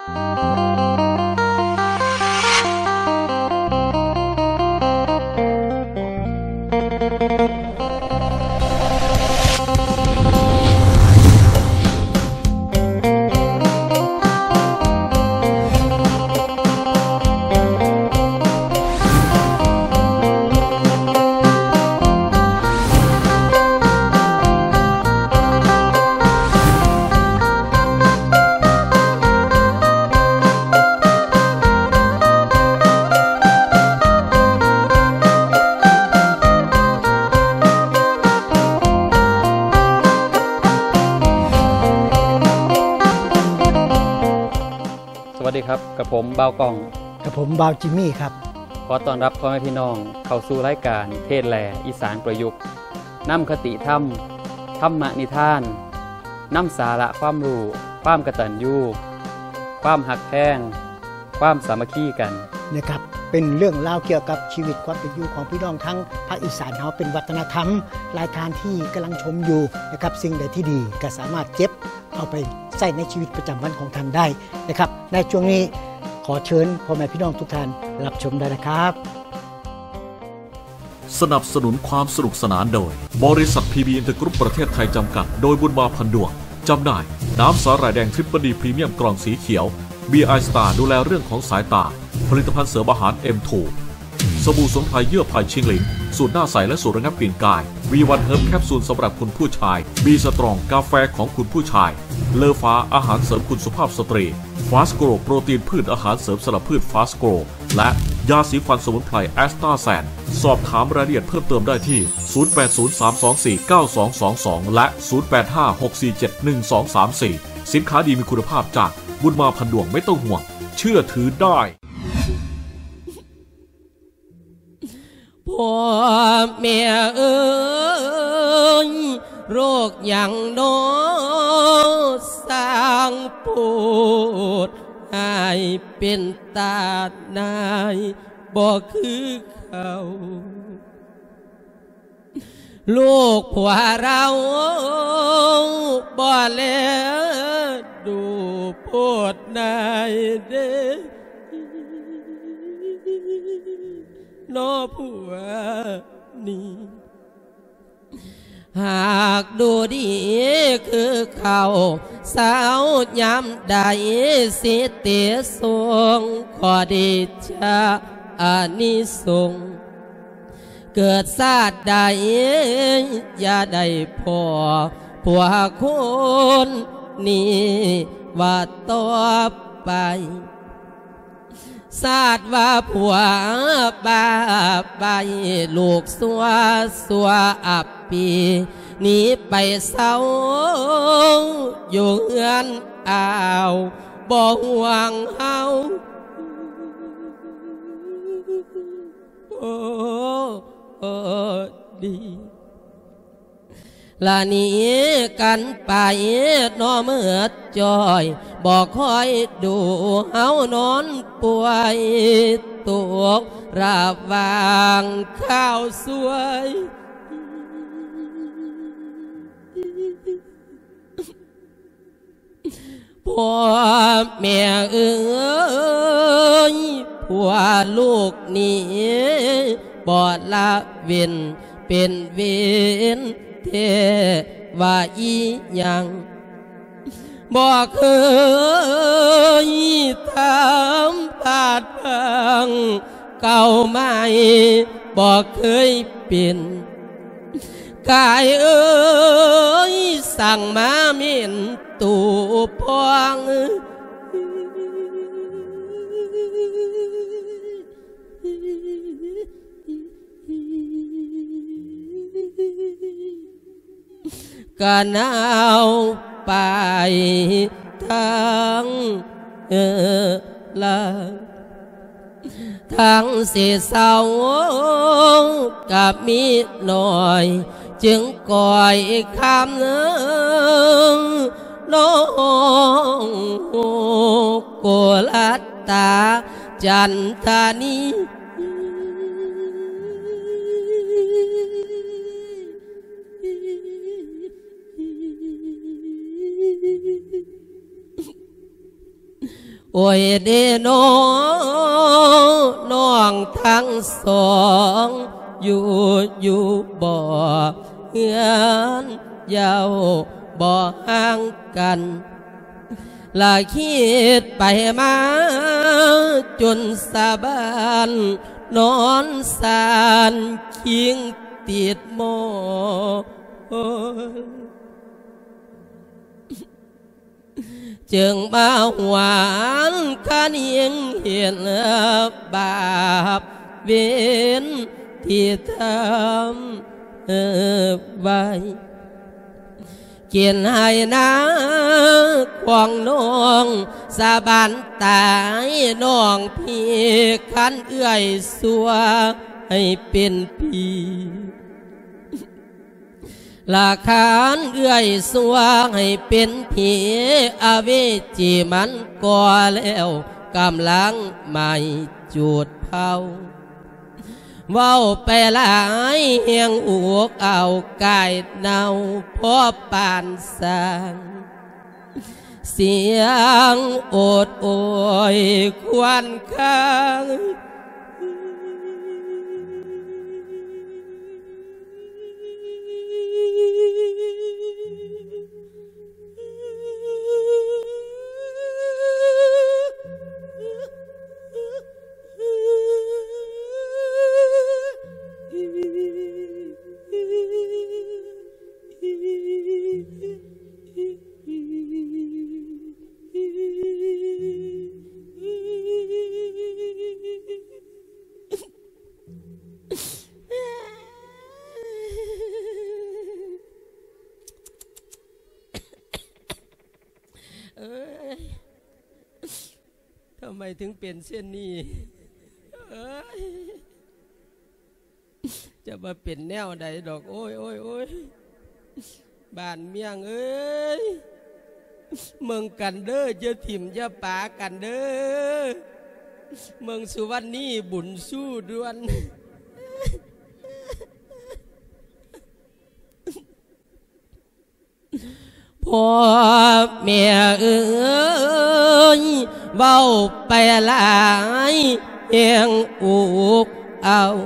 สวัสดีครับ กับผมบ่าวก้อง กับผมบ่าวจิมมี่ครับ ขอต้อนรับพ่อแม่พี่น้องเข้าสู่รายการเทศน์แหล่อีสานประยุกต์ นำคติธรรม ธรรมนิทาน นำสาระความรู้ ความกตัญญู ความฮักแพง ความสามัคคีกัน นะครับ เป็นเรื่องราวเกี่ยวกับชีวิตความเป็นอยู่ของพี่น้องทั้งภาคอีสานเฮา เป็นวัฒนธรรม หลายท่านที่กำลังชมอยู่นะครับ สิ่งใดที่ดีก็สามารถเก็บเอาไปใช้ในชีวิตประจำวันของท่านได้นะครับ ในช่วงนี้ขอเชิญพ่อแม่พี่น้องทุกท่านรับชมได้นะครับ สนับสนุนความสนุกสนานโดย บริษัท พี บี Inter Group ประเทศไทยจำกัด โดยบุญมา พันดวง จำหน่าย น้ำสาหร่ายแดง Triple D พรีเมียมกล่องสีเขียว บี ไอ Star ดูแลเรื่องของสายตา ผลิตภัณฑ์เสริมอาหาร เอ็ม ทู สบู่สมุนไพรเยื่อไผ่ชิงหลิง สูตรหน้าใสและสูตรระงับกลิ่นกาย วี วัน Herb แคปซูลสำหรับคุณผู้ชาย B Strong กาแฟของคุณผู้ชาย เลอฟ้า อาหารเสริมคุณสุภาพสตรี Fast Grow โปรตีนพืช อาหารเสริมสำหรับพืช Fast Grow และยาสีฟันสมุนไพร Astasan สอบถามรายละเอียดเพิ่มเติมได้ที่ ศูนย์แปดศูนย์ สามสองสี่ เก้าสองสองสอง และ ศูนย์แปดห้า หกสี่เจ็ด หนึ่งสองสามสี่ สินค้าดีมีคุณภาพจากบุญมา พันดวง ไม่ต้องห่วง เชื่อถือได้ พ่อแม่เอ๋ย โรคหยังน้อสร้างโพด ให้เป็นตาหน่ายบ่คือเขา ลูกผัวเราบ่แลดูโพดหน่ายเด้ น้อผัวนี้ หากดูดีคือเขา เซายามใดสิเตส่ง ขอเดชะอานิสงส์ เกิดชาติใดอย่าได้พ้อผัวคนนี้ว่าต่อไป ชาติว่าผัวบ้าใบ้ ลูกชั่วชั่วอับปี หนีไปเศร้าอยู่เฮือนอ้าว บ่ห่วงเฮา โอ้ โอ้ ดี ละหนีกันไปน้อเมิดจ้อย บ่คอยดูเฮานอนป่วย ตกระหว่างข้าวสวย พ่อแม่เอ๋ย ผัวลูกนี้บ่ละเว้นเป็นเวรแท้ว่าอีหยัง บ่เคยทำพลาดพลั้ง เก่าใหม่บ่เคยเป็น กายเอ๋ย สั่งมาเหม็นตูพอง กะหนาวไปทั้ง เอ่อ ละ ทั้งสิเศร้ากะมีน้อย จึงก้อยคำน้องโกลัตตาจันทานี ໂອ້ຍເດນ້ອ ນ້ອງທັງສອງ ຢູ່ ຢູ່ບໍ່ເຮືອນເຈົ້າບໍ່ຫ່າງກັນ ລະຄິດໄປມາຈົນສາບານ ນອນສານຄິງຕິດໝໍນ. ຈຶ່ງມາຫວນຄະນິງເຫັນບາບເວນທີ່ທຳໄວ້ ກິນໃຫ້ນາຂອງນ້ອງສາບານຕາຍນ້ອງພີ່ ຄັນເອື້ອຍຊົ່ວໃຫ້ເປັນຜີ ລະຄັນເອື້ອຍຊົ່ວໃຫ້ເປັນຜີ ອະເວຈີມັນກໍແລ້ວກຳລັງໄໝ້ຈູດເຜົາ. ເວົ້າໄປຫຼາຍແຮງອຸກເອົາກາຍເນົ່າ ພໍປານຊ່າງ ສຽງໂອດໂອຍຄວນຄາງ. ເອີຍ ທຳໄມເຖິງເປັນເຊັ່ນນີ້? ເອີຍ ຈະວ່າເປັນແນວໃດດອກ ໂອ້ຍ ໂອ້ຍ ໂອ້ຍ ບ້ານເມືອງເອີຍ ເບິ່ງກັນເດີ້ ຢ່າຖິ້ມຢ່າປາກັນເດີ້ ເບິ່ງສຸວັນນີບຸນຊູດ່ວນ. ພໍ່ແມ່ເອີຍ ເວົ້າໄປຫຼາຍແຮງອຸກເອົາ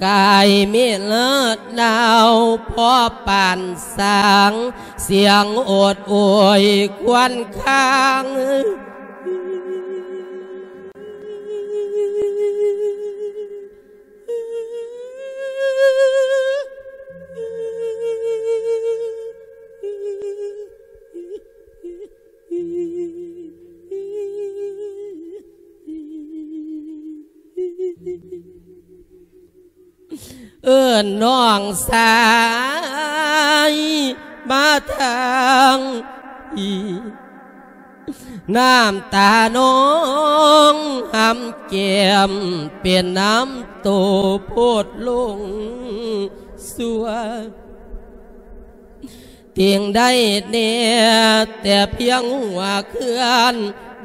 ກາຍເມລະນາວພໍປານຊ່າງ ສຽງໂອດໂອຍຄວນຄາງ. ເອີ້ນນ້ອງຊາຍມາທາງພີ້ ນ້ຳຕານ້ອງຫຳແກ້ມເປັນນ້ຳໂຕໂພດລົງຊົ່ວ ຕິງໄດ້ແນ່ແຕ່ພຽງຫົວເຄື່ອນ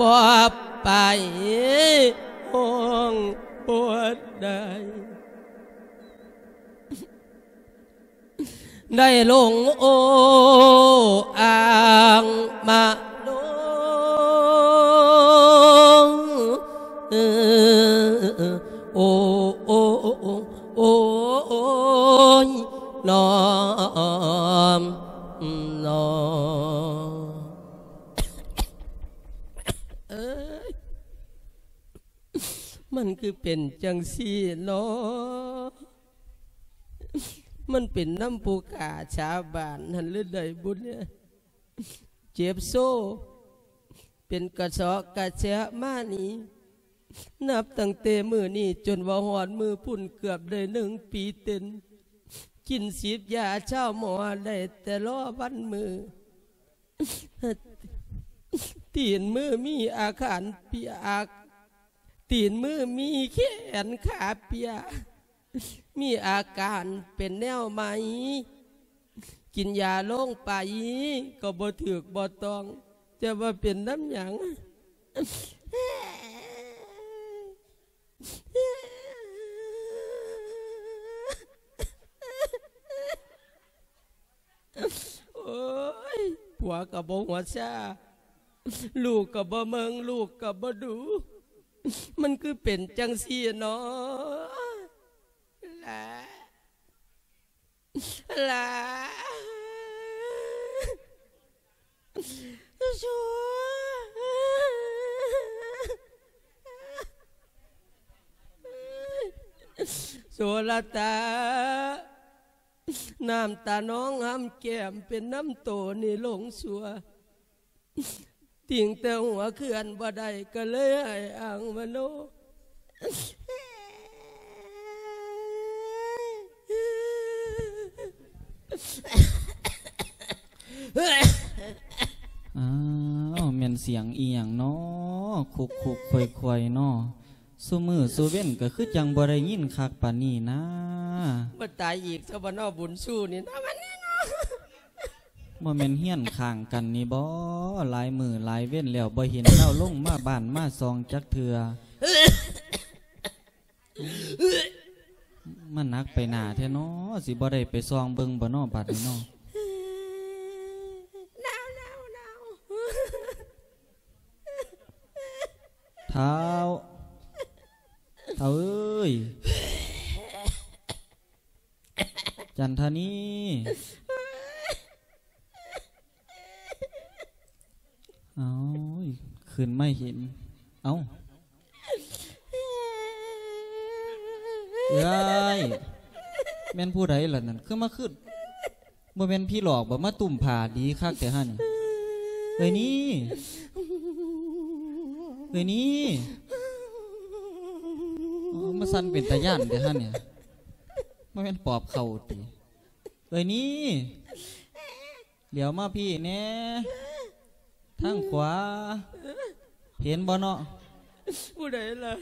ບໍ່ໄປຫ້ອງບໍ່ໄດ້ ໄດ້ລົງໂອ້ອ້າງມະໂນ ໂອ້ ໂອ້ ໂອ້ ໂອ້ຍ ນ້ອງ ນ້ອງ ເອີຍ ມັນຄືເປັນຈັ່ງຊີ້ເນາະ? ມັນເປັນນຳຜູ້ຂ້າຊາວບ້ານຫັ້ນຫຼືໃດບຸແນ? ເຈັບໂຊ ເປັນກະເຊາະກະແຊະມານີ້ ນັບຕັ້ງແຕ່ມື້ນີ້ຈົນວ່າຮອດມື້ພຸ້ນເກືອບໄດ້ໜຶ່ງປີເຕັມ ກິນສີດຢາຊາວໝໍໄດ້ແຕ່ລໍວັນມື້ ຕີນມືມີອາການປຽກ ຕີນມືມີແຂນຂາປຽກ ມີອາການເປັນແນວໃໝ່ ກິນຢາລົງໄປກໍບໍ່ຖືກບໍ່ຕ້ອງ ຈະວ່າເປັນນຳຫຍັງ? ໂອ້ຍ ຜົວກໍບໍ່ຫົວຊາ ລູກກໍບໍ່ເບິ່ງ ລູກກໍບໍ່ດູ ມັນຄືເປັນຈັ່ງຊີ້ເນາະ ຫຼ້າ ຫຼ້າ ໂສ ໂສລະຕາ ນ້ຳຕານອງຫ້ຳແກ້ມເປັນນ້ຳໂຕນີ້ຫຼົງຊົ່ວ ຕິງແຕ່ຫົວເຄື່ອນບໍ່ໄດ້ ກໍເລີຍໃຫ້ອ່າງມະໂນ. ອ້າວ ແມ່ນສຽງອີ່ຫຍັງນໍ ຄຸກໆ ຄວາຍໆ ນໍ ຊຸມື້ຊູເວັນກໍຄືຈັ່ງບໍ່ໄດ້ຍິນຄັກປານນີ້ນາ. ບໍ່ຕາຍອີກຊະບໍ່ນໍ ບຸນຊູນີ້ນະ ວັນນີ້ນໍ. ບໍ່ແມ່ນເຮືອນຂ້າງກັນນີ້ບໍ? ຫຼາຍມື້ຫຼາຍເວັນແລ້ວ ບໍ່ເຫັນລາວລົງມາບ້ານມາຊ່ອງຈັກເທື່ອ. ມັນໜັກໄປໜ້າແທ້ນໍ ຊິບໍ່ໄດ້ໄປສ່ອງເບິ່ງບໍນໍ ບາດນີ້ນໍ. ໜາວ ໜາວ ໜາວ. ທ້າວ ທ້າວເອີຍ ຈັນທານີ. ເອົາ ຂຶ້ນມາເຫັນ ເອົ້າ ເອື້ອຍ ແມ່ນຜູ້ໃດລະນັ້ນ ຄືມາຄື ບໍ່ແມ່ນຜີຫຼອກບໍ ມາຕຸ້ມຜ້າດີຄັກແທ້ຫັ້ນ. ເອື້ອຍນີ ເອື້ອຍນີ ໂອ້ ມາສັ່ນເປັນຕາຢ້ານແທ້ຫັ້ນນີ້ ບໍ່ແມ່ນປອບເຂົ້າຕິ? ເອື້ອຍນີ ຫຼຽວມາພີ້ແດ່ ທາງຂວາ ເຫັນບໍ່ເນາະ? ຜູ້ໃດລະ?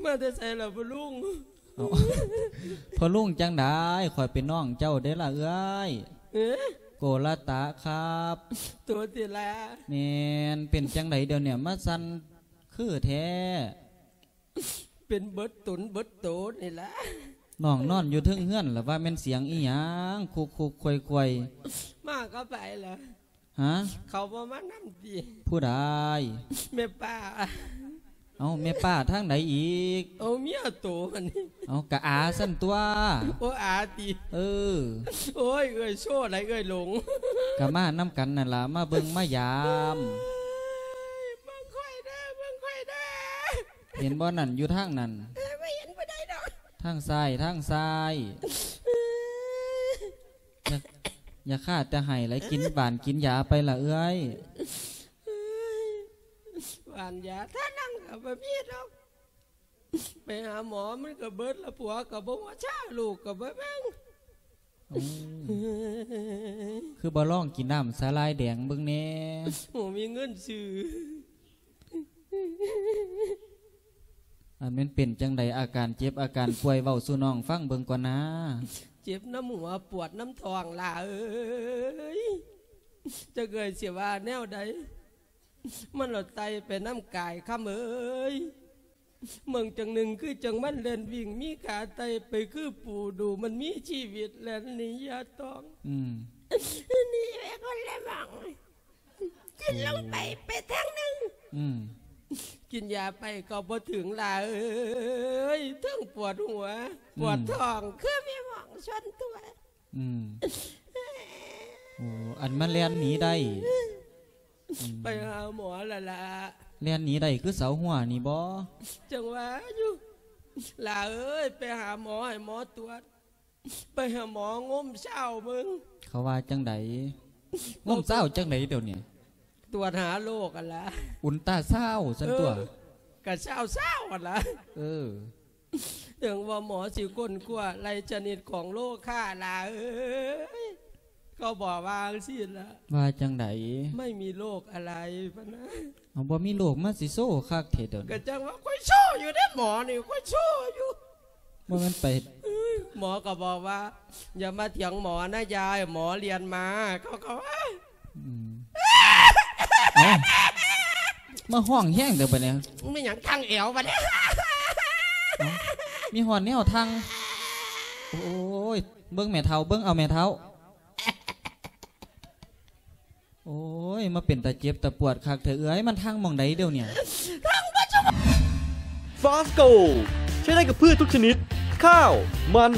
ມາແຕ່ໃສລະພໍ່ລຸງ? ເອົ້າ ພໍ່ລຸງຈັ່ງໃດ? ຂ້ອຍເປັນນ້ອງເຈົ້າເດ້ລະເອື້ອຍ. ເອີ ໂກລະຕະຄັບ. ໂຕຕິລະ? ແມ່ນ. ເປັນຈັ່ງໃດດຽວນີ້ ມາສັ່ນຄືແທ້? ເປັນເບິດຕົນເບິດໂຕນີ້ລະ. ນ້ອງນອນຢູ່ເທິງເຮືອນລະ ວ່າແມ່ນສຽງອີ່ຫຍັງ ຄຸກໆ ຄວາຍໆ? ມາກັບໃຜລະ? ຮະ? ເຂົາບໍ່ມານຳຕິ? ຜູ້ໃດ? ແມ່ປ້າ. ເອົ້າ ແມ່ປ້າທາງໃດອີກ? ເອົາ ເມຍໂຕຫັ້ນ. ເອົາ ກະອາຊັ້ນຕົວະ. ໂອ ອາຕິ? ເອີ. ໂອ້ຍ ເອື້ອຍໂຊໃດເອື້ອຍຫຼົງ? ກະມານຳກັນນັ້ນລະ ມາເບິ່ງມາຢາມ. ເບິ່ງຂ້ອຍເດີ ເບິ່ງຂ້ອຍເດີ. ເຫັນບໍ່ນັ້ນ ຢູ່ທາງນັ້ນ. ເອີ ບໍ່ເຫັນຜູ້ໃດດອກ. ທາງຊ້າຍ ທາງຊ້າຍ. ຢ່າ ຢ່າຄາແຕ່ໄຫ້ຫຼາຍ ກິນຫວານກິນຢາໄປລະເອື້ອຍ. ຫວານຢາທານັງກໍບໍ່ມີດອກ. ໄປຫາໝໍມັນກໍເບິດລະ ຜົວກໍບໍ່ຫົວຊາ ລູກກໍບໍ່ເບິ່ງ. ໂອ້ ຄືບໍ່ລອງກິນນ້ຳສາຫຼ່າຍແດງເບິ່ງແດ່? ບໍ່ມີເງິນຊື້. ອັນແມ່ນເປັນຈັ່ງໃດ ອາການເຈັບອາການປ່ວຍ ເວົ້າສູ່ນ້ອງຟັງເບິ່ງກ່ອນນາ. ເຈັບນຳຫົວ ປວດນຳທ້ອງ ຫຼ້າເອີຍ ຈັກເອື້ອຍຊິວ່າແນວໃດ. ມັນລະໄຕ່ໄປນຳກາຍ ຄຳເອີຍ. ເບິ່ງຈັ່ງໜຶ່ງຄືຈັ່ງມັນແລ່ນວິ່ງ ມີຂາໄຕ່ໄປຄືປູດູ ມັນມີຊີວິດແລ່ນໜີຢ່າຕ້ອງ. ອືມ ໜີໄປຄົນລະໝ່ອງ. ກິນລົງໄປ ໂອ້ ໄປທາງໜຶ່ງ. ອືມ ກິນຢາໄປກໍບໍ່ເຖິງ ຫຼ້າເອີຍ ເທິງປວດຫົວ ອືມ ປວດທ້ອງ ຄືມີໝ່ອງຊົນຕົວ. ອືມ ໂອ້ ອັນມາແລ່ນໜີໄດ້. ອືມ ໄປຫາໝໍລະລະ. ແລ່ນໜີໄດ້ຄືເສົາຮົ້ວນີ້ບໍ? ຈັ່ງວ່າຢູ່ ຫຼ້າເອີຍ ໄປຫາໝໍໃຫ້ໝໍຕວດ. ໄປຫາໝໍງົມຊາວເບິ່ງ. ເຂົາວ່າຈັ່ງໃດ? ງົມຊາວຈັ່ງໃດດຽວນີ້? ຕວດຫາໂລກຫັ້ນລະ ອຸນຕາຊາວຊັ້ນຕົວະ. ເອີ ກະຊາວຊາວຫັ້ນລະ. ເອີ ເຖິງວ່າໝໍຊິຄົ້ນຄວ້າໄລ່ຊະນິດຂອງໂລຄາ ຫຼ້າເອີຍ ເຂົາບອກວ່າຈັ່ງຊີ້ລະ. ວ່າຈັ່ງໃດ? ໄມ່ມີໂລກອະໄລ ພະນະ. ເອົາ ບໍ່ມີໂລກມາຊິໂຊຄັກແທ້ດຽວນີ້. ກະຈັ່ງວ່າຂ້ອຍໂຊຢູ່ເດ້ ໝໍນີ້ ຂ້ອຍໂຊຢູ່. ບໍ່ແມ່ນໄປ ເອີຍ ໝໍກໍບອກວ່າ ຢ່າມາຖຽງໝໍນະຍາຍ ໝໍລຽນມາ ເຂົາກໍວ່າ. ອືມ ເອົ້າ ມາຮ້ອງແຮງແທ້ບາດນີ້. ແມ່ນຫຍັງ ຄັງແອວບາດນີ້. ເອົ້າ ມີຮອດແນວທັງ. ໂອ້ຍ ເບິ່ງແມ່ເຖົ້າ ເບິ່ງເອົາແມ່ເຖົ້າ. ໂອ້ຍ ມາເປັນຕາເຈັບຕາປວດຄັກແທ້ເອື້ອຍ ມັນທາງໝ່ອງໃດດຽວນີ້? ຟາສໂກ ໃຊ້ໄດ້ກັບພືດທຸກຊະນິດ ຂ້າວ, ມັນ,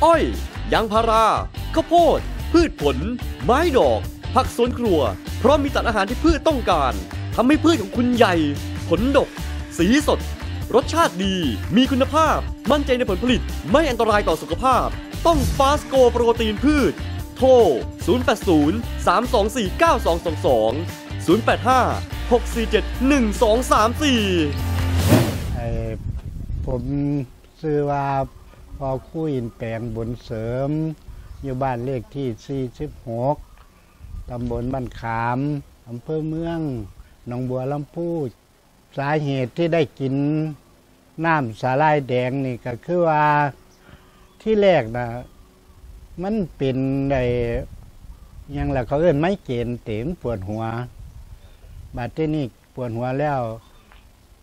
ອ້ອຍ, ຢາງພາລາ, ເຂົ້າໂພດ, ພືດຜົນ, ໄມ້ດອກ, ຜັກສວນຄົວ ເພາະມີສານອາຫານທີ່ພືດຕ້ອງການ ທຳໃຫ້ພືດຂອງຄຸນໃຫຍ່, ຜົນດົກ, ສີສົດ, ລົດຊາດດີ, ມີຄຸນນະພາບ, ໝັ້ນໃຈໃນຜົນຜະລິດ, ໄມ່ອັນຕະລາຍຕໍ່ສຸຂະພາບ. ຕ້ອງຟາສໂກໂປຣຕີນພືດ. ໂທ ສູນແປດສູນ ສາມສອງສີ່ ເກົ້າສອງສອງສອງ ສູນແປດຫ້າ ຫົກສີ່ເຈັດ ໜຶ່ງສອງສາມສີ່. ເອີ ຜົມຊື່ວ່າ ພໍ່ຄູອິນແປງ ບຸນເສີມ ຢູ່ບ້ານເລກທີສີ່ສິບຫົກ ຕຳບົນບ້ານຂາມ ອຳເພີເມືອງໜອງບົວລຳພູ. ສາເຫດທີ່ໄດ້ກິນນ້ຳສາຫຼ່າຍແດງນີ້ ກໍຄືວ່າ ທີແລກນະ ມັນເປັນໄດ້ ຫຍັງລະ ເຂົາເອີ້ນໄມເກຣນຕິ ມັນປວດຫົວ. ບາດທີນີ້ປວດຫົວແລ້ວ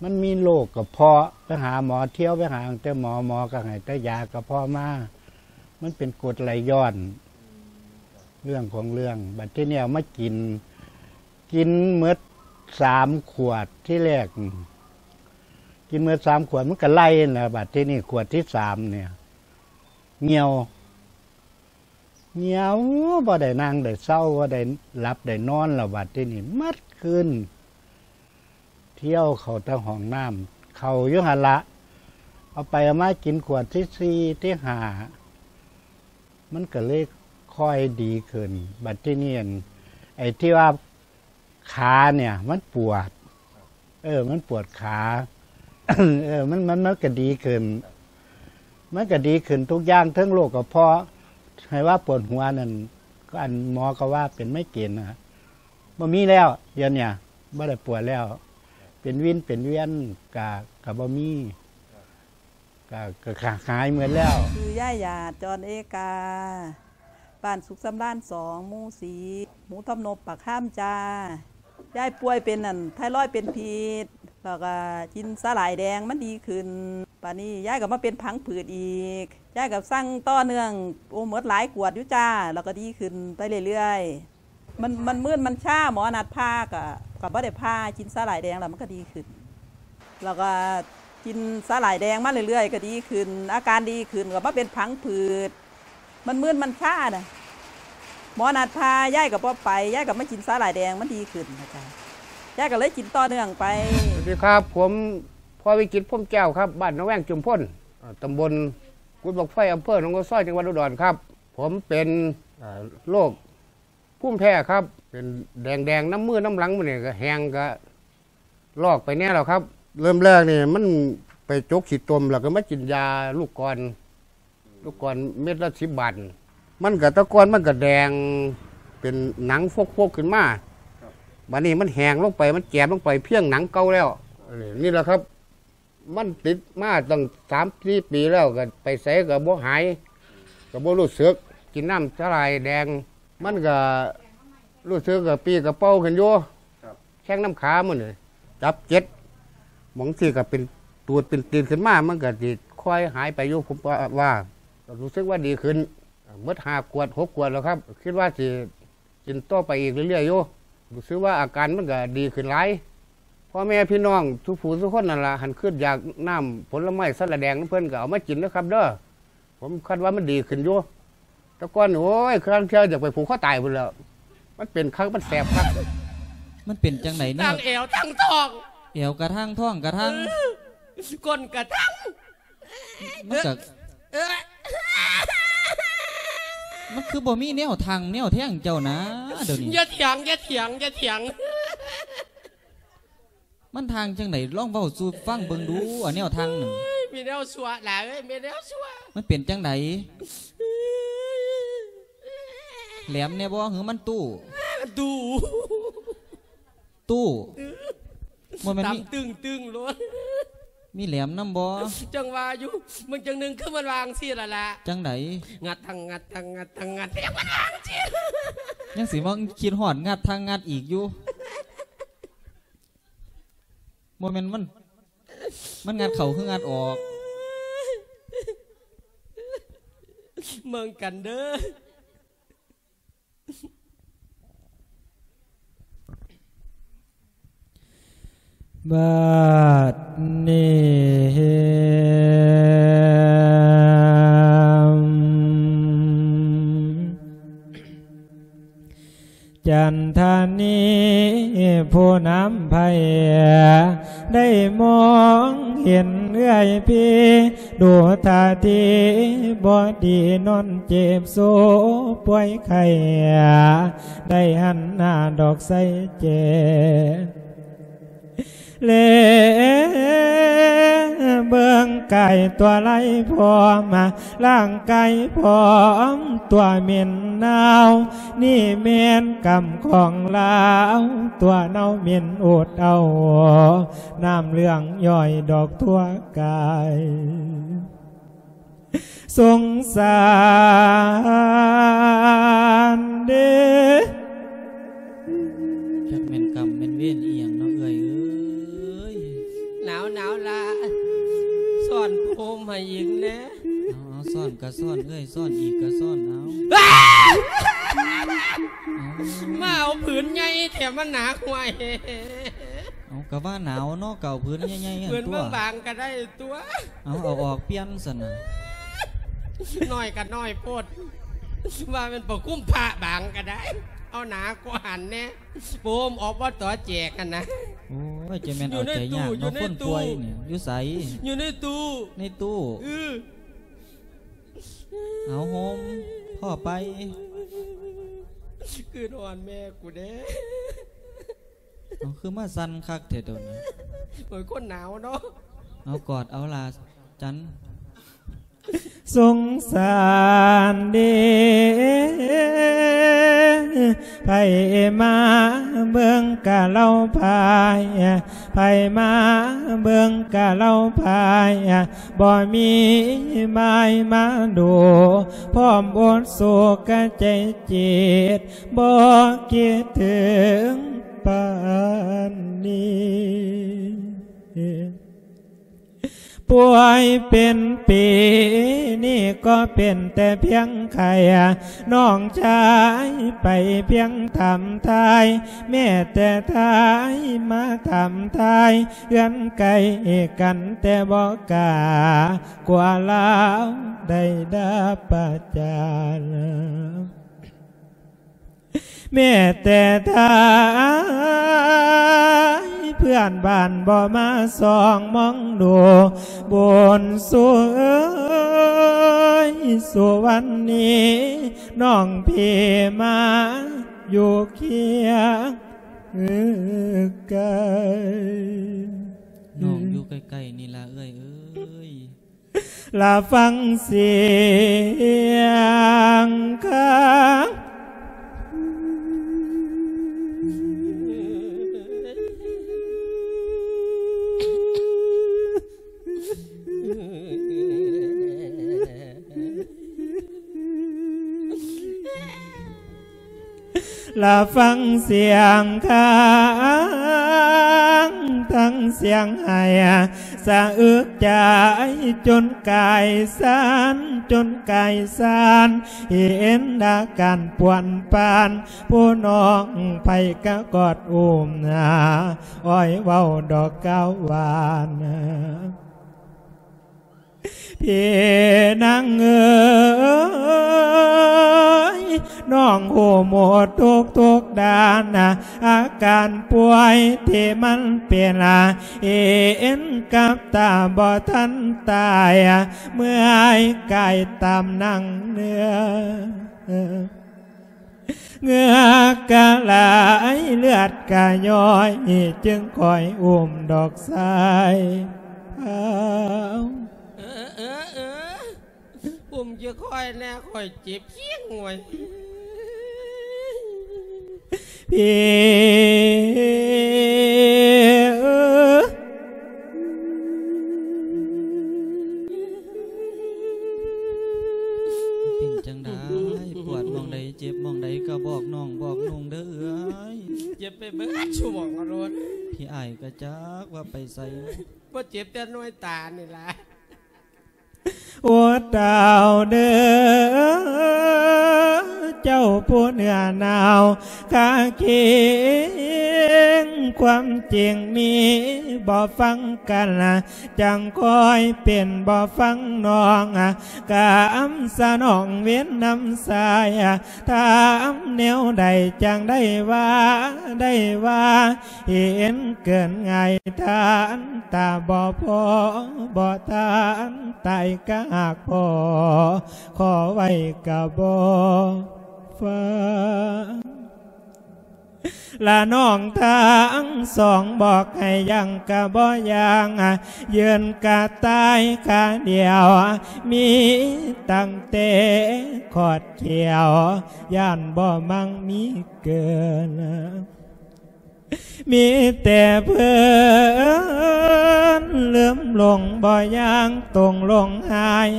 ມັນມີໂລກກະເພາະ ໄປຫາໝໍ ທ່ຽວໄປຫາຕັ້ງແຕ່ໝໍ ໝໍກໍໃຫ້ແຕ່ຢາກະເພາະມາ ມັນເປັນກົດໄຫຼຍ້ອນ ເລື່ອງຂອງເລື່ອງ. ບາດທີນີ້ເອົາມາກິນ ກິນໝົດສາມຂວດ ທີແລກ ກິນໝົດສາມຂວດ ມັນກໍໄລ່ຫັ້ນແຫຼະ. ບາດທີນີ້ຂວດທີສາມນີ້ ຫ່ຽວ ຫ່ຽວ ບໍ່ໄດ້ນັ່ງໄດ້ເຊົາ ບໍ່ໄດ້ຫຼັບໄດ້ນອນແລ້ວ. ບາດທີນີ້ໝົດຄືນ ທ່ຽວເຂົ້າແຕ່ຫ້ອງນ້ຳ ເຂົ້າຢູ່ຫັ້ນລະ ເອົາໄປເອົາມາກິນຂວດທີສີ່ ທີຫ້າ ມັນກໍເລີຍຄ່ອຍດີຂຶ້ນ. ບາດທີນີ້ ອັນ ໄອ້ທີ່ວ່າຂານີ້ມັນປວດ ເອີ ມັນປວດຂາ ເອີ ມັນ ມັນ ມັນກໍດີຂຶ້ນ ມັນກໍດີຂຶ້ນທຸກຢ່າງ ເຖິງໂລກກະເພາະ ໃຫ້ວ່າປວດຫົວນັ້ນ ອັນ ໝໍກໍວ່າເປັນໄມເກຣນນະ ບໍ່ມີແລ້ວ ດຽວນີ້ບໍ່ໄດ້ປວດແລ້ວ ເປັນວິນເປັນວຽນກະ ກະບໍ່ມີ ກະ ກະຫາຍໝົດແລ້ວ. ຊື່ຍາຍຫຍາດ ຈອນເອກາ ບ້ານສຸກສຳລານສອງ ໝູ່ສີ່ ໝູ່ທຳນົບ ປາກຄາມຈ້າ. ຍາຍປ່ວຍເປັນ ອັນ ໄທຣອຍເປັນພິດ ແລ້ວກະກິນສາຫຼ່າຍແດງ ມັນດີຂຶ້ນ. ບາດນີ້ຍາຍກໍມາເປັນພັງຜືດອີກ ຍາຍກໍສັ່ງຕໍ່ເນື່ອງ ໂອ້ ໝົດຫຼາຍຂວດຢູ່ຈ້າ ແລ້ວກໍດີຂຶ້ນໄປເລື້ອຍໆ. ມັນ ມັນມຶນ ມັນຊາ ໝໍນັດຜ່າ ກະ ກະບໍ່ໄດ້ຜ່າ ກິນສາຫຼ່າຍແດງແລ້ວມັນກະດີຂຶ້ນ ແລ້ວກະກິນສາຫຼ່າຍແດງມາເລື້ອຍໆ ກະດີຂຶ້ນ ອາການດີຂຶ້ນ ກະມາເປັນພັງຜືດ ມັນມຶນ ມັນຊານະ ໝໍນັດຜ່າ ຍາຍກະບໍ່ໄປ ຍາຍກະມາກິນສາຫຼ່າຍແດງ ມັນດີຂຶ້ນນະຈ້າ ຍາຍກະເລີຍກິນຕໍ່ເນື່ອງໄປ. ສະຫວັດດີຄັບ ຜົມ ພໍ່ວິຈິດ ພົມແກ້ວຄັບ ບ້ານໜອງແວງ ຈຸມພົນ ເອີ ຕຳບົນກຸດບັ້ງໄຟ ອຳເພີໜອງໂອຊອຍ ຈັງຫວັດອຸດອນຄັບ. ຜົມເປັນ ເອີ ໂລກ ພູມແພ້ຄັບ ເປັນແດງໆ ນຳມືນຳຫຼັງ ມື້ນີ້ກະແຫ້ງກະລອກໄປແດ່ແລ້ວຄັບ. ເລີ່ມແລກນີ້ມັນໄປຈົກຂີ້ຕົມ ແລ້ວກະມາກິນຢາລູກກອນ ລູກກອນເມັດລະສິບບາດ ມັນກະ ແຕ່ກ່ອນມັນກະແດງ ເປັນໜັງຟົກໆ ຂຶ້ນມາ ບາດນີ້ມັນແຫ້ງລົງໄປ ມັນແຈມລົງໄປ ພຽງໜັງເກົ່າແລ້ວ. ນີ້ລະຄັບ ມັນຕິດມາຕັ້ງສາມສີ່ປີແລ້ວ ກະໄປໃສກະບໍ່ຫາຍ ກະບໍ່ຮູ້ສຶກ. ກິນນ້ຳສາຫຼ່າຍແດງ ມັນກະຮູ້ສຶກກະປີ້ກະເປົາຂຶ້ນຢູ່ ແຂ້ງນຳຂາມື້ນີ້ ຈັບເຈັດ ບາງທີກະເປັນຕູດເປັນຕີນຂຶ້ນມາ ມັນກະຊິຄ່ອຍຫາຍໄປຢູ່ ຜົມວ່າ ກະຮູ້ສຶກວ່າດີຂຶ້ນ. ໝົດຫ້າຂວດ ຫົກຂວດແລ້ວຄັບ ຄິດວ່າຊິ ກິນຕໍ່ໄປອີກເລື້ອຍໆ ຢູ່ ຮູ້ສຶກວ່າອາການມັນກະດີຂຶ້ນຫຼາຍ. ພໍ່ແມ່ພີ່ນ້ອງທຸກຜູ້ທຸກຄົນນັ້ນລະ ຄັນຄຶດຢາກນ້ຳຜົນລະໄມ້ສາຫຼ່າຍແດງນຳເພິ່ນກະເອົາມາກິນເດີຄັບເດີ ຜົມຄາດວ່າມັນດີຂຶ້ນຢູ່. ແຕ່ກ່ອນ ໂອ້ຍ ຄາງເທື່ອຢາກໄປຜູກຄໍຕາຍພຸ້ນແຫຼ້ວ ມັນເປັນຄັກ ມັນແສບຄັກ. ມັນເປັນຈັ່ງໃດເນາະ? ທັງແອວທັງທ້ອງ ແອວກະທັງ ທ້ອງກະທັງ ເອີ ກົ້ນກະທັງ ມັນກະ ເອີ ມັນຄືບໍ່ມີແນວທັງແນວແທງເຈົ້ານະ ດຽວນີ້. ຢ່າຖຽງ ຢ່າຖຽງ ຢ່າຖຽງ. ມັນທາງຈັ່ງໃດ? ລອງເວົ້າສູ່ຟັງເບິ່ງດູ ອັນແນວທາງນັ້ນ. ໂອ້ຍ ມີແນວຊົ່ວຫຼາຍເອີຍ ມີແນວຊົ່ວ. ມັນເປັນຈັ່ງໃດ? ແຫຼມແດ່ບໍ່? ຫື ມັນຕູ້? ຕູ້ ຕູ້? ບໍ່ແມ່ນມີ ຕຶ້ງໆ ໂລດ. ມີແຫຼມນຳບໍ່? ຈັ່ງວ່າຢູ່ ເບິ່ງຈັ່ງໜຶ່ງຄືມັນວ່າຈັ່ງຊີ້ລະລະ. ຈັ່ງໃດ? ງັດທັງງັດ ທັງງັດທັງງັດ ຍັງມັນວ່າຈັ່ງຊີ້ ຍັງຊິມາຄິດຮອດງັດທັງງັດອີກຢູ່. ບໍ່ແມ່ນມັນ ມັນງັດເຂົ້າຄືງັດອອກ? ເບິ່ງກັນເດີ. ບັດນີ້ ຈັນທານີຜູ້ນຳໄພ ໄດ້ມອງເຫັນເອື້ອຍພີ ດູທ່າທີບໍ່ດີ ນອນເຈັບໂຊປ່ວຍໄຂ້ ໄດ້ຫັນໜ້າດອກໃສແຈ ແລເບິ່ງກາຍຕົວໄລພ້ອມ ຮ່າງກາຍພ້ອມຕົວເໝັນໜາວ ນີ້ແມ່ນກຳຂອງລາວ ຕົວເນົ່າເໝັນອົດເອົາ ນ້ຳເຫຼືອງຍ້ອຍດອກທົ່ວກາຍ ສົງສານເດ້. ຈັກແມ່ນກຳແມ່ນເວນອີ່ຫຍັງເນາະເອື້ອຍເອີຍ. ໜາວ ໜາວລະ ຊ້ອນຜ້າຫົ່ມໃຫ້ອີກແດ່. ເອົາ ເອົາ ຊ້ອນກະຊ້ອນເອື້ອຍ ຊ້ອນອີກກະຊ້ອນເອົາ. ມາເອົາຜືນໃຫຍ່ແທ້ ມັນໜາກວ່າ. ເອົາ ກະວ່າໜາວເນາະ ກະເອົາຜືນໃຫຍ່ໆຫັ້ນຕົວະ ຜືນບາງໆກະໄດ້ຕົວະ. ເອົາ ເອົາອອກປ່ຽນຊັ້ນນະ. ນ້ອຍກະນ້ອຍໂພດ ວ່າແມ່ນຜ້າຫົ່ມພະບາງກະໄດ້ ເອົາໜາກວ່າຫັ້ນແດ່. ໂປມອອກບໍ່ຕໍ່ແຈກຫັ້ນນະ. ໂອ້ຍ ຈະແມ່ນເອົາໃຈຍາກເນາະ ຢູ່ໃນຕູ້ ຄົນປ່ວຍນີ້. ຢູ່ໃນຕູ້. ຢູ່ໃນຕູ້. ໃນຕູ້. ເອີ. ເອົາ ໂຮມ ພໍໄປ. ຄືນອນແມ່ກູເດ້. ເອົາ ຄືມາສັ່ນຄັກແທ້ໂດນນີ້. ໂອ້ຍ ຄົນໜາວເນາະ. ເອົາ ກອດເອົາລະຈັນ. ສົງສານເດ້ ໃຜມາເບິ່ງກະເລົ່າພາຍ ໃຜມາເບິ່ງກະເລົ່າພາຍ ບໍ່ມີໝາຍມາດູ ພ້ອມອົດໂສກະໃຈເຈັບ ບໍ່ຄິດເຖິງປານນີ້. ປ່ວຍເປັນປີນີ້ກໍເປັນແຕ່ພຽງໄຂ້ ນ້ອງຊາຍໄປພຽງຖາມທາຍ ແມ້ແຕ່ທາຍມາຖາມທາຍ ເຮືອນໃກ້ກັນແຕ່ບໍ່ກ້າ ກົວລາວໄດ້ດາປະຈານ. ແມ້ແຕ່ທາຍເພື່ອນບ້ານບໍ່ມາສ່ອງມອງດູ ບຸນສຸເອີຍ ສຸວັນນີ ນ້ອງພີ່ມາຢູ່ຄຽງໃກ້. ນ້ອງຢູ່ໃກ້ໆນີ້ລະເອື້ອຍເອີຍ. ລະຟັງສຽງຄາງ ລະຟັງສຽງຄາງ ທັງສຽງໄຫ້ສະອຶກໃຈ ຈົນກາຍສັ່ນ ຈົນກາຍສັ່ນ ເຫັນອາການປວນປານ ຜູ້ນ້ອງໃຜກະກອດອຸ້ມ ອ້ອຍເວົ້າດອກກ່າວຫວານ. ພີ່ນາງເອີຍ ນ້ອງຮູ້ໝົດທຸກໆດ້ານ ອາການປ່ວຍທີ່ມັນເປັນ ເຫັນກັບຕາບໍ່ທັນຕາຍ ເມື່ອຍກາຍຕາມໜັງເນື້ອ. ເຫື່ອກະໄຫຼເລືອດກະຍ້ອຍ ຈຶ່ງຄ່ອຍອຸ້ມດອກຊາຍພາວ. ເອີ ເອີ ເອີ ອຸ້ມຈະຄ່ອຍແດ່ ຂ້ອຍເຈັບແຮງເວີຍ. ພີ່ເອີ ເປັນຈັ່ງໃດ? ປວດໝ່ອງໃດ ເຈັບໝ່ອງໃດ ກະບອກນ້ອງບອກນຸ່ງເດີເອື້ອຍ. ເຈັບໄປເບິດຊຸໝ່ອງໂລດ. ພີ່ອ້າຍກະຈັກວ່າໄປໃສ. ບໍ່ເຈັບແຕ່ໜ່ວຍຕານີ້ລະ. ໂອ ເຕົ້າເດີ ເຈົ້າຜູ້ເໜືອໜາວຂ້າຄິງ ຄວາມຈິງມີບໍ່ຟັງກັນ ຈັ່ງຄ່ອຍເປັນບໍ່ຟັງນ້ອງ ກຳສະໜອງເວນນຳຊາຍ ຖາມແນວໃດຈັ່ງໄດ້ວ່າ ໄດ້ວ່າ ເຫັນເກີນງ່າຍທ່ານຕາບໍ່ພໍ ບໍ່ທ່ານຕາຍກະຫາກພໍ ຂໍໄວ້ກະບໍ່ຟັງ ລະນ້ອງທັງສອງບອກໃຫ້ຍ່າງກະບໍ່ຍ່າງ ຢືນກະຕາຍຂາດຽວ ມີຕັ້ງແຕ່ຂອດຂຽວ ຢ້ານບໍ່ມັ່ງມີເກີນ ມີແຕ່ເພິ່ນລືມຫຼົງບໍ່ຢ່າງຕົງຫຼົງຫາຍ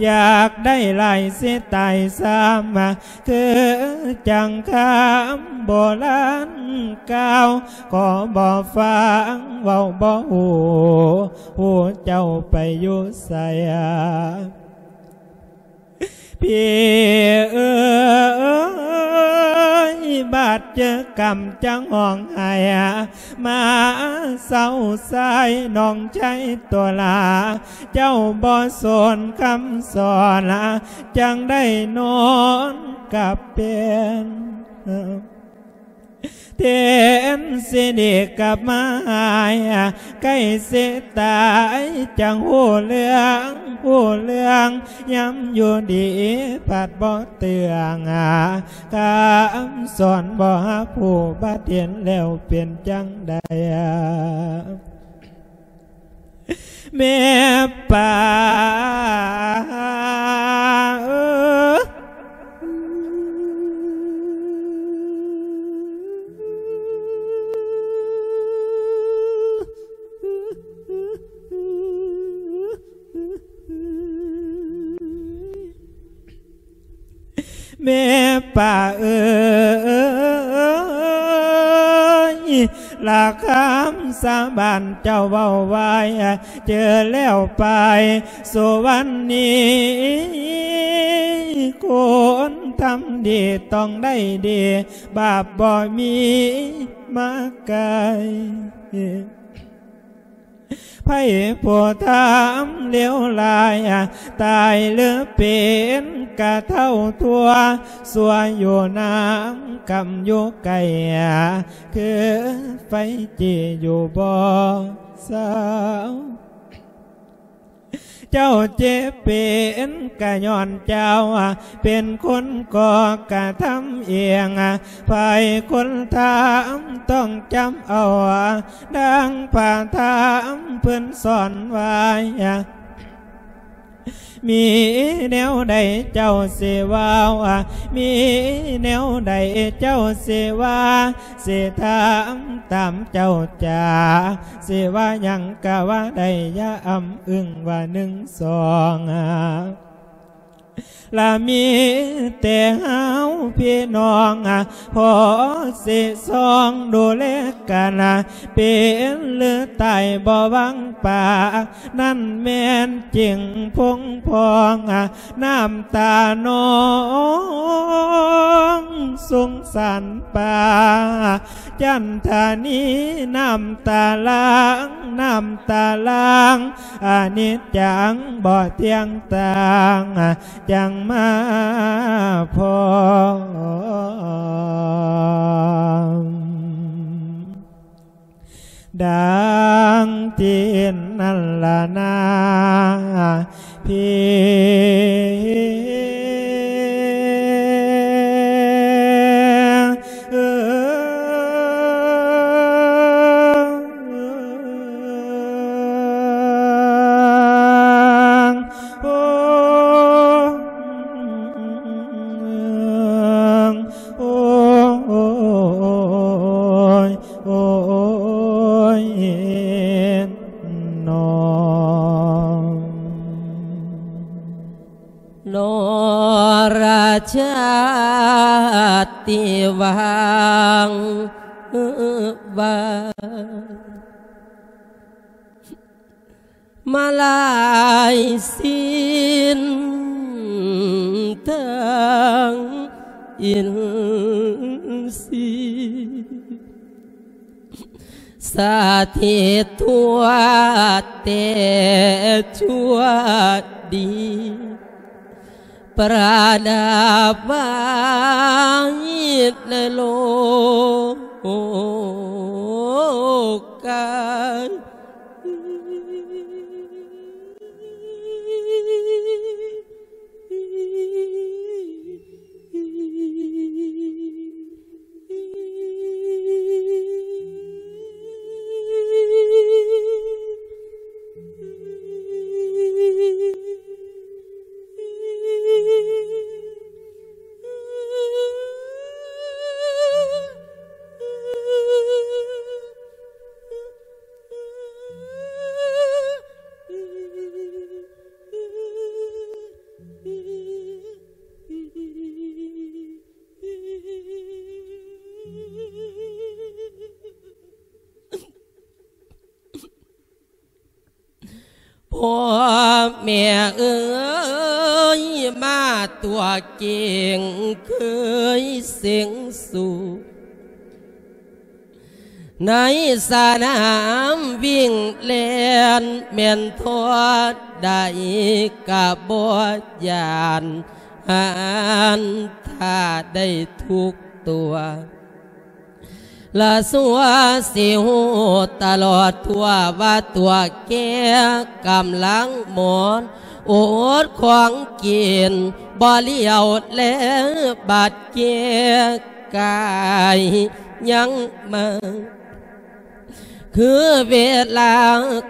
ຢາກໄດ້ຫຼາຍຊິຕາຍຊ້ຳ ຄືຈັ່ງຄຳໂບລານກ່າວ ກໍບໍ່ຟັງເວົ້າບໍ່ຮູ້ ຮູ້ເຈົ້າໄປຢູ່ໃສ ພີ່ເອີຍ ບາດເຈີກຳຈັ່ງຮ້ອງໄຫ້ ມາເສົ້າຊາຍນ້ອງຊາຍຕົວລາ ເຈົ້າບໍ່ສົນຄຳສອນ ຈັ່ງໄດ້ນອນກັບເປັນ ແທນຊິດີກັບມາຫາຍ ໃກ້ຊິຕາຍຈັ່ງຮູ້ເລື່ອງ ຮູ້ເລື່ອງ ຍາມຢູ່ດີພັດບໍ່ເຕືອງ ຄຳສອນບໍ່ຮັບຮູ້ ບັດເຫັນແລ້ວເປັນຈັ່ງໃດ? ແມ່ປ້າເອີຍ ແມ່ປ້າເອີຍ ລະຄຳສາບານເຈົ້າເວົ້າໄວ້ ເຈີແລ້ວໄປສຸວັນນີ ຄົນທຳດີຕ້ອງໄດ້ດີ ບາບບໍ່ມີມາໄກ ໃຜຜູ້ທຳເລວລາຍ ຕາຍຫຼືເປັນກະເຖົ້າທົວ ຊົ່ວຢູ່ນຳກຳຢູ່ໄກ ຄືໄຟຈີ້ຢູ່ບໍ່ເຊົາ ເຈົ້າເຈັບເປັນກະຍ້ອນເຈົ້າ ເປັນຄົນກໍ່ກະທຳເອງ ໃຜຄົນທຳຕ້ອງຈຳເອົາ ດັ່ງພະທຳເພິ່ນສອນໄວ້ ມີແນວໃດເຈົ້າຊິເວົ້າ ມີແນວໃດເຈົ້າຊິວ່າ ຊິທຳຕາມເຈົ້າຈາ ຊິວ່າຫຍັງກະວ່າໄດ້ ຢ່າອຳອຶງວ່າໜຶ່ງສອງ ລະມີແຕ່ເຮົາພີ່ນ້ອງ ພໍຊິຊ່ອງດູແລກັນ ເປັນຫຼືຕາຍບໍ່ຫວັງປາ ນັ້ນແມ່ນຈິງພົງພອງ ນ້ຳຕານ້ອງສົງສານປ້າ ຈັນທານີ ນ້ຳຕາຫຼາງ ນ້ຳຕາຫຼາງ ອະນິດຈັງບໍ່ທ່ຽງຕັ້ງ ຈັ່ງມາພໍ້ ດັ່ງທີ່ນັ້ນລະນາພີ່. ໂອ້ຍ ໂອ້ຍ ໂອ້ຍ ໂອ້ຍ ໂອ້ຍ ໂອ້ຍ ໂອ້ຍ ໂອ້ຍ ນໍ ນອລະຊາດຕິວັງວາ ມາລາຍສິນທັງ ອິນຊີ ສະຖິດທົ່ວແຕ່ຊົ່ວດີ ປະດັບໄວ້ໃນໂລກາ. ພໍ່ແມ່ເອີຍ ມາຕົວເກັ່ງເຄີຍເສັງສູ ໃນສະໜາມວິ່ງແລ່ນ ແມ່ນທໍ່ໃດກະບໍ່ຢ້ານ ຫັ້ນຖ້າໄດ້ທຸກຕົວ ລະຊົ່ວຊິຮູ້ຕະຫຼອດທົ່ວວ່າຕົວແກ່ກຳລັງໝອນ ອົດຂອງກິນບໍ່ຫຼຽວແລ ບາດແກ່ກາຍຍັງມາ ຄືເວລາ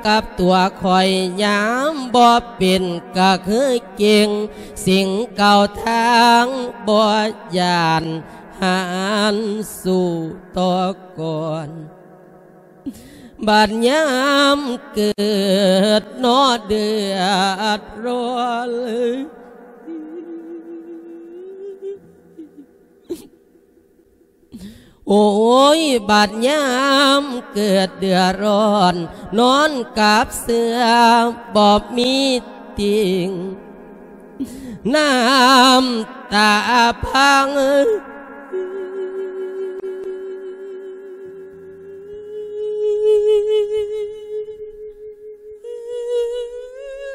ກັບຕົວຂ້ອຍຍາມບໍ່ເປັນ ກະຄືເກັ່ງສິ່ງເກົ່າທາງບໍ່ຢ້ານ ຫັນສູ້ຕໍ່ກ່ອນ ບາດຍາມເກີດເນາະເດືອດຮ້ອນ ໂອ້ຍ ບາດຍາມເກີດເດືອດຮ້ອນ ນອນກັບເສືອບໍ່ມີຕິ່ງ ນ້ຳຕາພັງ.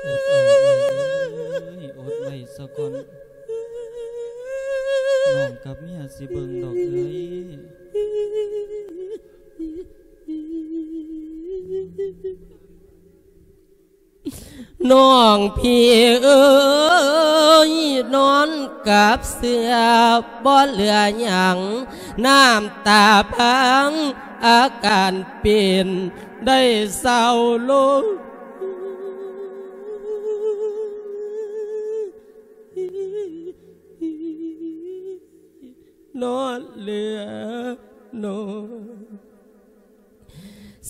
ອົດເອົາເອີຍ ອົດໄວ້ສາກ່ອນ ນ້ອງກັບເມຍຊິເບິ່ງດອກເອີຍ. ນ້ອງພີ່ເອີຍ ນອນກັບເສືອບໍ່ເຫຼືອຫຍັງ ນ້ຳຕາພັງ ອາການເປັນໄດ້ເຊົາລົງ ນອນເຫຼືອນ້ອຍ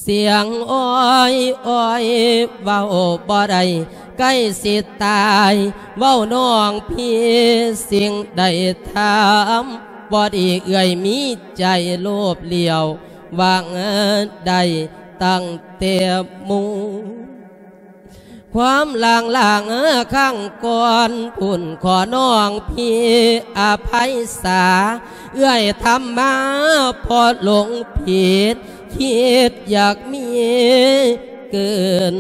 ສຽງອ້ອຍໆ ເວົ້າບໍ່ໄດ້ ໃກ້ຊິຕາຍ ເວົ້ານ້ອງພີ່ ສິ່ງໃດທຳບໍ່ດີ ເອື້ອຍມີໃຈໂລບຫຼຽວ ຫວັງໄດ້ຕັ້ງແຕ່ໝູ່ ຄວາມລ້າງໆ ຄັ້ງກ່ອນພຸ້ນ ຂໍນ້ອງພີ່ອະໄພສາ ເອື້ອຍທຳມາເພາະຫຼົງຜິດ ຄິດຢາກມີເກີນ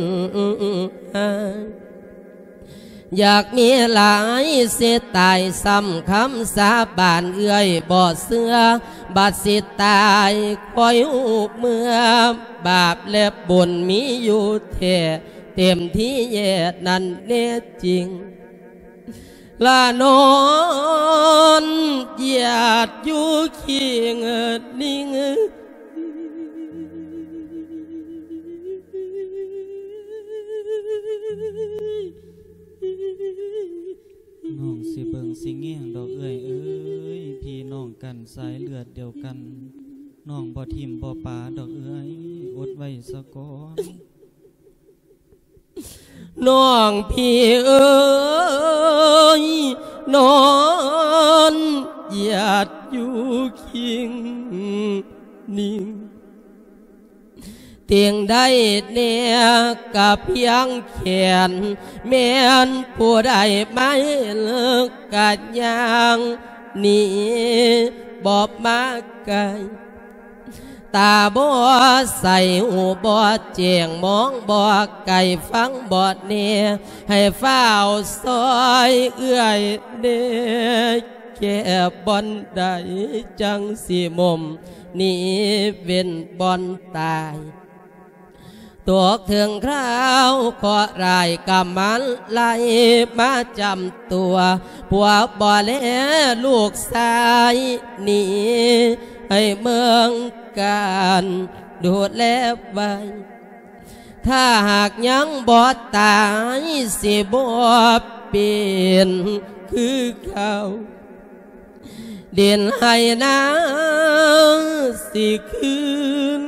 ຢາກມີຫຼາຍເສຍຕາຍ ຊ້ຳຄຳສາບານເອື້ອຍບໍ່ເຊື່ອ ບັດຊິຕາຍຄ່ອຍຮູ້ເມື່ອ ບາບແລະບຸນມີຢູ່ແທ້ ເຕັມທີ່ແຍດນັ້ນແນ່ຈິງ ລະນອນຢາດຢູ່ຄີງນິງ. ນ້ອງຊິເບິ່ງຊິແຍງດອກເອື້ອຍເອີຍ ພີ່ນ້ອງກັນສາຍເລືອດດຽວກັນ ນ້ອງບໍ່ຖິ້ມບໍ່ປາດອກເອື້ອຍ ອົດໄວ້ສາກ່ອນ. ນ້ອງພີ່ເອີຍ ນອນຢາດຢູ່ຄີງນິງ ຕິ່ງໄດ້ແນ່ກະພຽງແຂນ ແມ່ນຜູ້ໃດມາເຫັນກະຍ່າງ ນີ້ບໍ່ມາໃກ້ ຕາບໍ່ໃສ ຫູບໍ່ແຈ້ງ ມອງບໍ່ໄກ ຟັງບໍ່ແນ ໃຫ້ຟ້າວຊ່ອຍເອື້ອຍແດ່ ແກ້ບ່ອນໃດ ຈັ່ງຊິໝົມ ໜີເວັ້ນບ່ອນຕາຍ. ຕົກເຖິງຄາວເຄາະຮ້າຍກຳມານໄລ່ມາຈຳຕົວ ຜົວບໍ່ແລລູກຊາຍໜີໃຫ້ເມືອງການດູແລໄວ້ ຖ້າຫາກຍັງບໍ່ຕາຍ ຊິບໍ່ເປັນຄືເກົ່າ ດິນໄຮ່ນາຊິຄືນ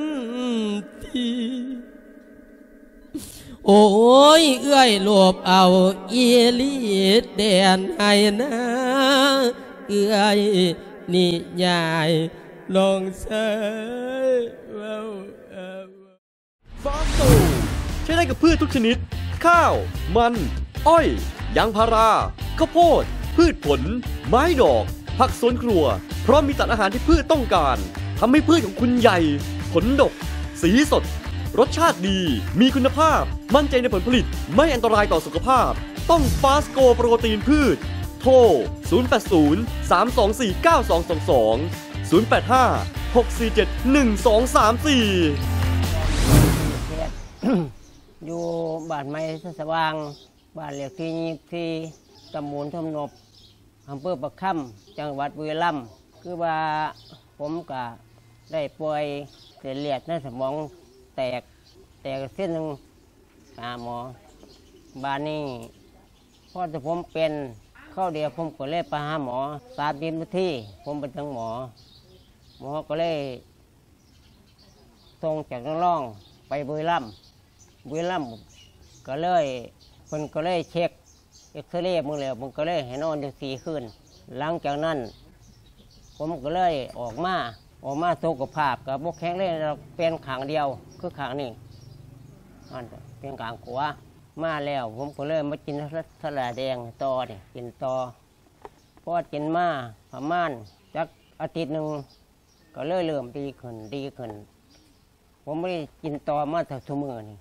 ທີ່ ໂອ້ຍ ເອື້ອຍໂລບເອົາອີ່ຫຼີແດນໄຮ່ນາ ເອື້ອຍນິຍາຍນ້ອງຊາຍເວົ້າເອົາ. ຟາສໂກ ໃຊ້ໄດ້ກັບພືດທຸກຊະນິດ ຂ້າວ ມັນ ອ້ອຍ ຢາງພາລາ ເຂົ້າໂພດ ພືດຜົນ ໄມ້ດອກ ຜັກສວນຄົວ ພ້ອມມີສານອາຫານທີ່ພືດຕ້ອງການ ທຳໃຫ້ພືດຂອງຄຸນໃຫຍ່ ຜົນດົກ ສີສົດ ລົດຊາດດີ ມີຄຸນນະພາບ ໝັ້ນໃຈໃນຜົນຜະລິດ ໄມ່ອັນຕະລາຍຕໍ່ສຸຂະພາບ ຕ້ອງຟາສໂກໂປຣຕີນພືດ ໂທ ສູນແປດສູນ ສາມສອງສີ່ ເກົ້າສອງສອງສອງ ສູນແປດຫ້າ ຫົກສີ່ເຈັດ ໜຶ່ງສອງສາມສີ່. ຢູ່ບ້ານໃໝ່ໄຊສະຫວ່າງ ບ້ານເລກທີຊາວສີ່ ຕຳບົນທຳນົບ ອຳເພີປາກຄຳ ຈັງຫວັດບຸຣີລຳ. ຄືວ່າຜົມກະໄດ້ປ່ວຍເສັ້ນເລືອດໃນສະໝອງແຕກ ແຕກເສັ້ນໜຶ່ງ ຫາໝໍ. ບາດນີ້ພໍແຕ່ຜົມເປັນຄາວດຽວ ຜົມກໍເລີຍໄປຫາໝໍ ສາມສິບນາທີ ຜົມໄປເຖິງໝໍ ໝໍກໍເລີຍສົ່ງຈາກນາງລອງໄປບຸຣີລຳ. ບຸຣີລຳກໍເລີຍ ເພິ່ນກໍເລີຍເຊັກເອັກຊະເຣເບິ່ງແລ້ວ ເພິ່ນກໍເລີຍໃຫ້ນອນຢູ່ສີ່ຄືນ. ຫຼັງຈາກນັ້ນ ຜົມກໍເລີຍອອກມາ ອອກມາສຸຂະພາບກໍບໍ່ແຂງແຮງດອກ ເປັນຂ້າງດຽວຄືຂ້າງນີ້ ອັນເປັນຂ້າງຂວາ. ມາແລ້ວ ຜົມກໍເລີຍມາກິນສາລາຍແດງຕໍ່ນີ້ ກິນຕໍ່. ພໍກິນມາປະມານຈັກອາທິດໜຶ່ງ ກໍເລີຍເລີ່ມດີຂຶ້ນ ດີຂຶ້ນ. ຜົມບໍ່ໄດ້ກິນຕໍ່ມາເທົ່າທຸກມື້ນີ້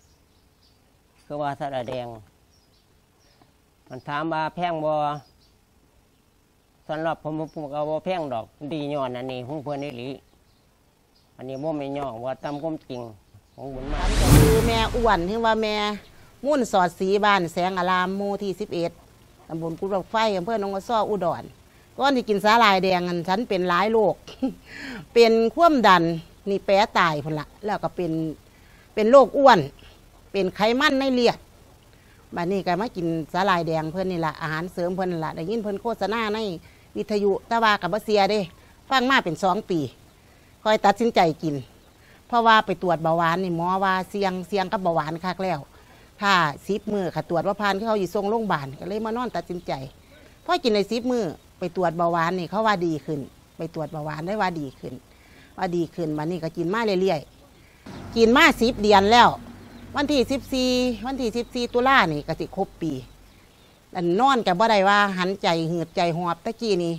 ຄືວ່າສາລາຍແດງ. ມັນຖາມວ່າແພງບໍ່? ສຳລັບຜົມ ຜົມກໍບໍ່ແພງດອກ ດີຍ້ອນອັນນີ້ຂອງເພິ່ນອີ່ຫຼີ. ອັນນີ້ບໍ່ແມ່ນຍ້ອງວ່າ ຕາມຄວາມຈິງຂອງບຸນມາ. ຄືແມ່ອ້ວນ ຫຼືວ່າແມ່ມູນສອດສີ ບ້ານແສງອາລາມ ໝູ່ທີສິບເອັດ ຕຳບົນກຸດບັກໄຟ ອຳເພີໜອງກະຊໍ ອຸດອນ. ກ່ອນຊິກິນສາລາຍແດງນັ້ນ ສັນເປັນຫຼາຍໂລກ ເປັນຄວາມດັນ ນີ້ແປຕາຍພຸ້ນລະ ແລ້ວກໍເປັນ ເປັນໂລກອ້ວນ ເປັນໄຂມັນໃນເລືອດ. ບາດນີ້ກໍມາກິນສາລາຍແດງເພິ່ນນີ້ລະ ອາຫານເສີມເພິ່ນນັ້ນລະ ໄດ້ຍິນເພິ່ນໂຄສະນາໃນວິທະຍຸ ແຕ່ວ່າກໍບໍ່ເຊື່ອເດ້ ຟັງມາເປັນສອງປີ ຄ່ອຍຕັດສິນໃຈກິນ ເພາະວ່າໄປຕວດເບົາຫວານນີ້ ໝໍວ່າສ່ຽງ ສ່ຽງກັບເບົາຫວານຄັກແລ້ວ ຖ້າສິບມື້ ຄັນຕວດບໍ່ຜ່ານ ຄືເຂົາຊິສົ່ງໂລງບານ ກໍເລີຍມານອນຕັດສິນໃຈ. ພໍກິນໄດ້ສິບມື້ ໄປຕວດເບົາຫວານນີ້ ເຂົາວ່າດີຂຶ້ນ ໄປຕວດເບົາຫວານໄດ້ວ່າດີຂຶ້ນ ວ່າດີຂຶ້ນ. ບາດນີ້ກໍກິນມາເລື້ອຍໆ ກິນມາສິບເດືອນແລ້ວ ວັນທີສິບສີ່ ວັນທີສິບສີ່ຕຸລານີ້ກໍຊິຄົບປີ. ອັນນອນກໍບໍ່ໄດ້ວ່າຫັນໃຈຫືດໃຈຫອບ ແຕ່ກີ້ນີ້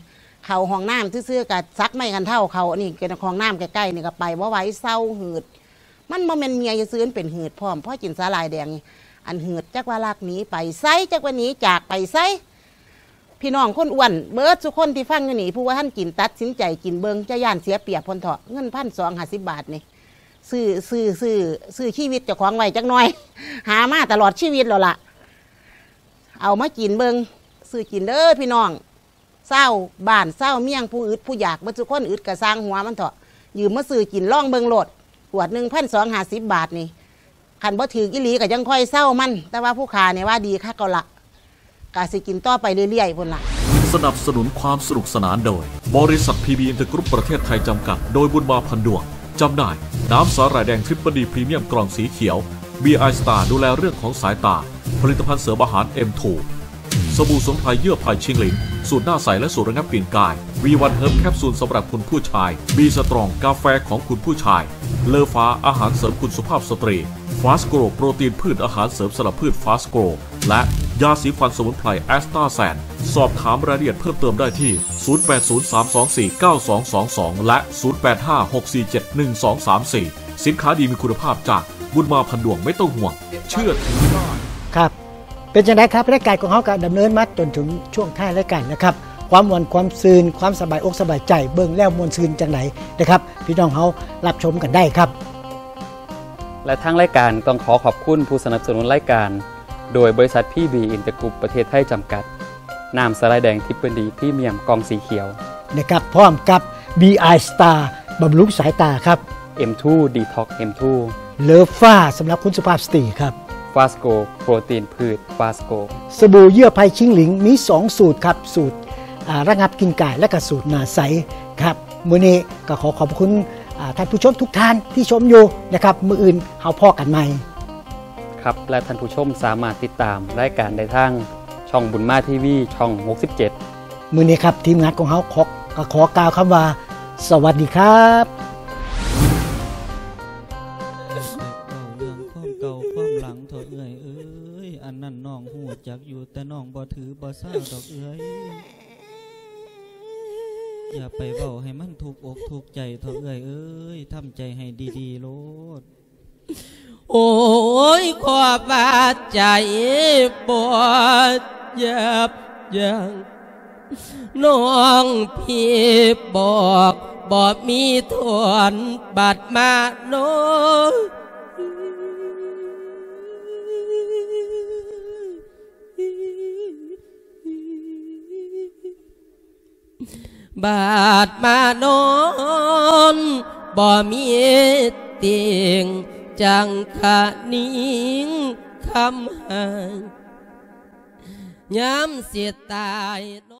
ເຂົ້າຫ້ອງນ້ຳຊື່ໆ ກໍສັກໄມ້ກັນເທົາເຂົ້າ ອັນນີ້ກໍຫ້ອງນ້ຳໃກ້ໆນີ້ ກໍໄປບໍ່ໄຫວ ເຊົາຫືດ. ມັນບໍ່ແມ່ນເມື່ອຍຊື່ໆ ມັນເປັນຫືດພ້ອມ. ພໍກິນສາຫຼ່າຍແດງນີ້ ອັນຫືດຈັກວ່າລັກໜີໄປໃສ ຈັກວ່າໜີຈາກໄປໃສ. ພີ່ນ້ອງຄົນອ້ວນເບິດສູ່ຄົນທີ່ຟັງຢູ່ນີ້ ຜູ້ວ່າທັນກິນ ຕັດສິນໃຈກິນເບິ່ງ ຈະຢ້ານເສຍປຽບເພິ່ນເຖາະ. ເງິນພັນສອງຫ້າສິບບາດນີ້ ຊື້ ຊື້ ຊື້ ຊື້ຊີວິດເຈົ້າຂອງໄວ້ຈັກໜ່ອຍ ຫາມາຕະຫຼອດຊີວິດແລ້ວລະ. ເອົາມາກິນເບິ່ງ ຊື້ກິນເດີພີ່ນ້ອງ ຊາວບ້ານຊາວເມືອງ ຜູ້ອຶດຜູ້ຢາກເບິດສູ່ຄົນ. ອຶດກໍຊ່າງຫົວມັນເຖາະ ຢືມມາຊື້ກິນລອງເບິ່ງໂລດ. ຂວດໜຶ່ງພັນສອງຫ້າສິບບາດນີ້ ຄັນບໍ່ຖືກອີ່ຫຼີກໍຈັ່ງຄ່ອຍເຊົາມັນ ແຕ່ວ່າຜູ້ຂ້ານີ້ວ່າດີຄັກແລ້ວລະ ກະຊິກິນຕໍ່ໄປເລື້ອຍໆພຸ້ນລະ. ສະໜັບສະໜູນຄວາມສະໜຸກສະໜານໂດຍ ບໍລິສັດ ພີບີ ອິນເຕີກຣຸບ ປະເທດໄທ ຈຳກັດ ໂດຍ ບຸນມາ ພັນດວງ. ຈຳໜ່າຍ ນ້ຳສາຫຼ່າຍແດງ Triple D ພຣີມຽມ ກ່ອງສີຂຽວ ບີ ອາຍ ສະຕາ ດູແລເລື່ອງຂອງສາຍຕາ. ຜະລິດຕະພັນເສີມອາຫານ ເອັມ ທູ ສະບູ່ສະໝຸນໄພເຍື່ອໄພຊິງຫຼິງ ສູດໜ້າໃສ ແລະ ສູດລະງັບກິ່ນກາຍ. ວີ ວັນ ເຮີບ ແຄບຊູນສຳລັບຄຸນຜູ້ຊາຍ. ບີ ສະຕຣອງ ກາແຟຂອງຄຸນຜູ້ຊາຍ. ເລີຟ້າ ອາຫານເສີມຄຸນສຸພາບສະຕຣີ. ຟາສໂກຣ ໂປຣຕີນພືດ ອາຫານເສີມສຳລັບພືດ ຟາສໂກຣ ແລະ ยาสีฟันสมุนไพรแอสตาแซน สอบถามรายละเอียดเพิ่มเติมได้ที่ ศูนย์แปดศูนย์ สามสองสี่ เก้าสองสองสอง และ ศูนย์แปดห้า หกสี่เจ็ด หนึ่งสองสามสี่ สินค้าดีมีคุณภาพจากบุญมาพันดวง ไม่ต้องห่วง เชื่อถือได้ ครับ เป็นจั่งใดครับ รายการของเฮาก็ดำเนินมาจนถึงช่วงท้ายรายการแล้วครับ ความม่วนความซื่น ความสบายอกสบายใจ เบิ่งแล้วม่วนซื่นจั่งใดนะครับ พี่น้องเฮารับชมกันได้ครับ และทางรายการต้องขอขอบคุณผู้สนับสนุนรายการ โดยบริษัท พี บี Inter Group ประเทศไทยจำกัด น้ำสาหร่ายแดง Triple D พรีเมียมกล่องสีเขียว นะครับ พร้อมกับ บี ไอ Star บำรุงสายตาครับ เอ็ม ทู Detox เอ็ม ทู Love ฟ้าสำหรับคุณสุภาพสตรีครับ Fast Grow โปรตีนพืช Fast Grow สบู่เยื่อไผ่ชิงหลิงมีสองสูตรครับ สูตร อ่า ระงับกลิ่นก่าย และก็สูตรหน้าใสครับ มื้อนี้ก็ขอขอบคุณ อ่า ท่านผู้ชมทุกท่านที่ชมอยู่นะครับ มื้ออื่นเฮาพ้อกันใหม่ ครับ และท่านผู้ชมสามารถติดตามรายการได้ทางช่องบุญมาทีวี ช่อง หกสิบเจ็ด มื้อนี้ครับ ทีมงานของเฮาขอ ก็ขอกล่าวคำว่า สวัสดีครับ เว้าเรื่องความเก่าความหลังเถาะเอื้อยเอ้ย อันนั้นน้องฮู้จักอยู่ แต่น้องบ่ถือบ่ซาดอกเอื้อย อย่าไปเว้าให้มันทุกอกทุกใจเถาะเอื้อยเอ้ย ทำใจให้ดีๆโลด โอ้ย ขอบว่าใจบ่ยับยั้ง น้องพี่บอกบ่มีทอน บัดมาน้อง บาดมานอนบ่มีติ่ง จั่งคะนิงคำหาย ยามสิตาย